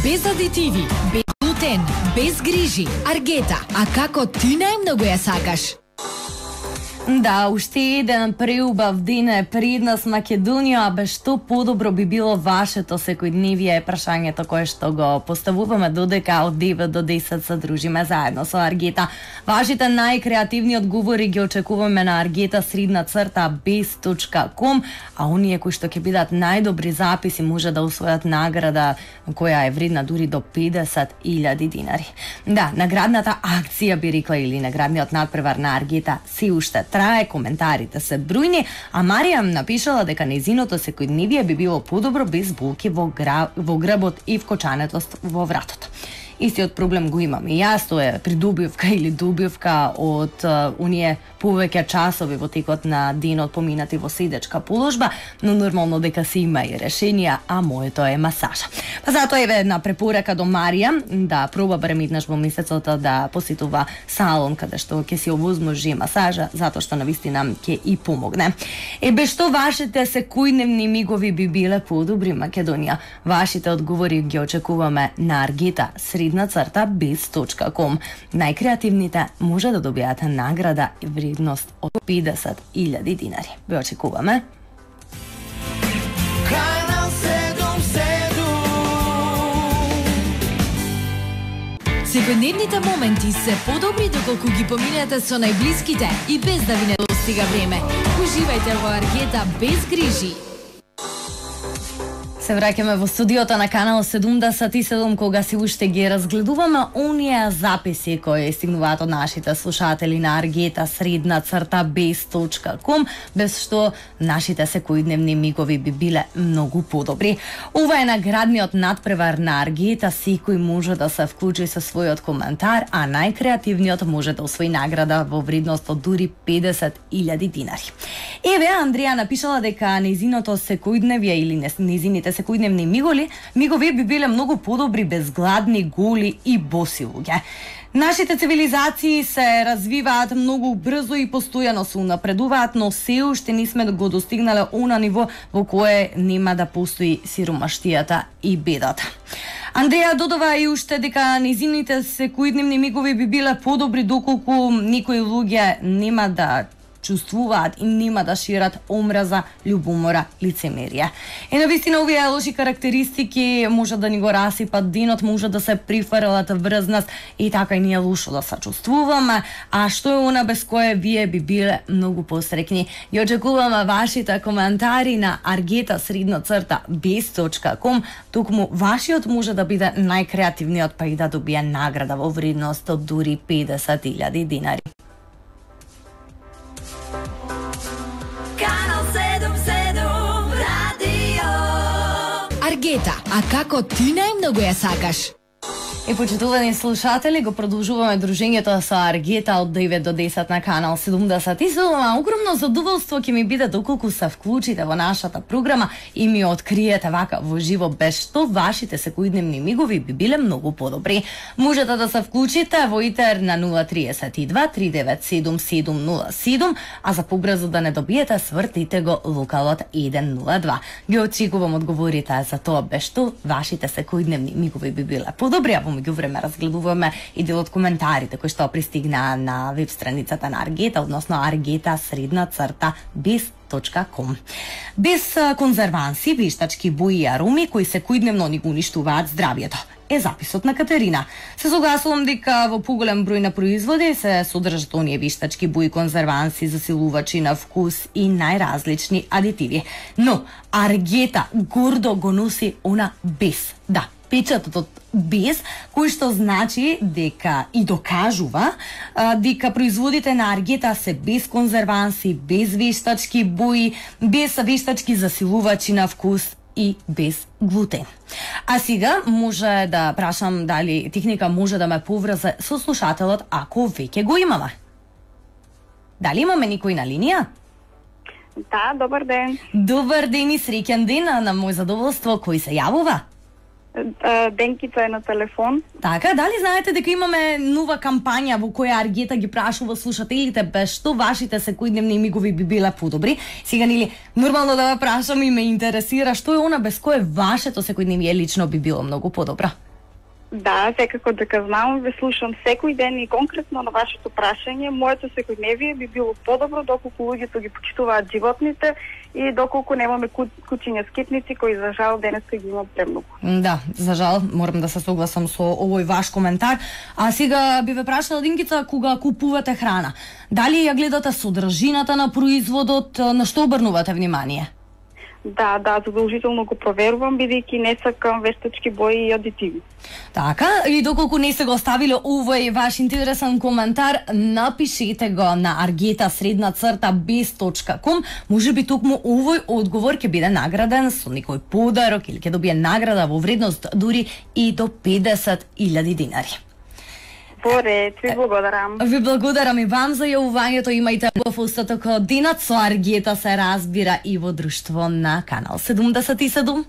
Без адитиви, без глутен, без грижи. Аргета, а како ти најмногу ја сакаш? Да, уште еден преубав ден е пред нас Македонија, а без што подобро би било вашето секојдневие е прашањето кое што го поставуваме додека од 9 до 10 се дружиме заедно со Аргета. Вашите најкреативни одговори ги очекуваме на argeta_bez.com, а оние кои што ќе бидат најдобри записи може да усвојат награда која е вредна дури до 50.000 динари. Да, наградната акција би рекла или наградниот надпревар на Аргета се уште трае, коментарите се бројни, а Маријам напишала дека нејзиното секојдневие би било подобро без булки во грбот и вкочането во вратото. Истиот проблем го имам и јас, тоа е придобивка или добивка од оние повеќе часови во текот на денот поминати во седечка положба, но нормално дека се има и решенија, а моето е масажа. Па затоа еве една препорака до Марија да проба барем еднаш во месецот да посетува салон каде што ќе си овозможи масажа, затоа што навистина ќе и помогне. Без што вашите секојдневни мигови би биле подобри Македонија? Вашите одговори ги очекуваме на argeta_bez.com. Најкреативните може да добијате награда и вредност од 50.000 динари. Ве очекуваме. Канал 7. Секојдневните моменти се подобри доколку ги поминете со најблиските и без да ви не достига време. Уживајте во Аргета без грижи. Се враќаме во студиото на Канал 77 кога си уште ги разгледуваме оние записи кои стигнуваат од нашите слушатели на argeta_bez.com, без што нашите секојдневни мигови би биле многу подобри. Ова е наградниот надпревар на Аргета, секој може да се вклучи со својот коментар, а најкреативниот може да освои награда во вредност од дури 50.000 динари. Еве, Андреја напишала дека нејзиното секојдневие или нејзините секојдневни мигови би биле многу подобри без гладни, голи и боси луѓе. Нашите цивилизации се развиваат многу брзо и постојано се унапредуваат, но се уште не сме го достигнале она ниво во кое нема да постои сиромаштијата и бедата. Андреја додава и уште дека нејзините секојдневни мигови би биле подобри доколку некои луѓе нема да чувствуваат и нема да шират омраза, љубомора, лицемерие. Навистина овие лоши карактеристики може да ни го расипат денот, може да се прифрлат врз нас и така и ние лошо да се чувствуваме, а што е она без кое вие би биле многу посрекни. Ја очекуваме вашите коментари на argeta_bez.com, токму вашиот може да биде најкреативниот па и да добие награда во вредност од дури 50.000 динари. Аргета, а како ти најмногу ја сакаш? И почитувани слушатели, го продолжуваме дружењето со Аргета од 9 до 10 на Канал 77. Огромно задоволство ќе ми биде доколку се вклучите во нашата програма и ми откриете вака во живо, без што вашите секојдневни мигови би биле многу подобри. Можете да се вклучите во итер на 032 397 707, а за побрзо да не добиете, свртите го локалот 102. Ги очекувам одговорите за тоа без што вашите секојдневни мигови би биле подобри. Во меѓувреме разгледуваме и дел од коментарите кои што пристигнаа на веб страницата на Аргета, односно argeta_bez.com. Без конзерванси, вештачки бои и ароми кои секојдневно ни го уништуваат здравието. Е записот на Катерина. Се согласувам дека во поголем број на производи се содржат оние вештачки бои, конзерванси, засилувачи на вкус и најразлични адитиви. Но Аргета гордо го носи она без. Да, печатот од без, кој што значи дека и докажува дека производите на Аргета се без конзерванси, без вештачки бои, без вештачки засилувачи на вкус и без глутен. А сега може да прашам дали техника може да ме поврзе со слушателот ако веќе го имаме. Дали имаме никој на линија? Да, добар ден. Добар ден и среќен ден, на мој задоволство, кој се јавува? Денкица е на телефон. Така, дали знаете дека имаме нова кампања во која Аргета ги прашува слушателите без што вашите секојдневни мигови би биле подобри? Сега нели нормално да ве прашам и ме интересира што е она без кое вашето секојдневие лично би било многу подобро? Да, секако дека знам, ве слушам секој ден и конкретно на вашето прашање, моето секојдневие би било подобро доколку луѓето ги почитуваат животните и доколку немаме кучиња скитници кои за жал денеска ги има премногу. Да, за жал, морам да се согласам со овој ваш коментар. А сега би ве прашала, Динкица, кога купувате храна, дали ја гледате содржината на производот, на што обрнувате внимание? Да, задолжително го проверувам, бидејќи не сакам вештачки бои и адитиви. Така, и доколку не сте го оставиле овој ваш интересен коментар, напишете го на argeta_bez.com. Може би токму овој одговор ќе биде награден со некој подарок или ќе добие награда во вредност дури и до 50.000 динари. Во ред, ви благодарам. Ви благодарам и вам за јавувањето. Имајте убав остаток од денот. Со Аргета се разбира и во друштво на Канал 77.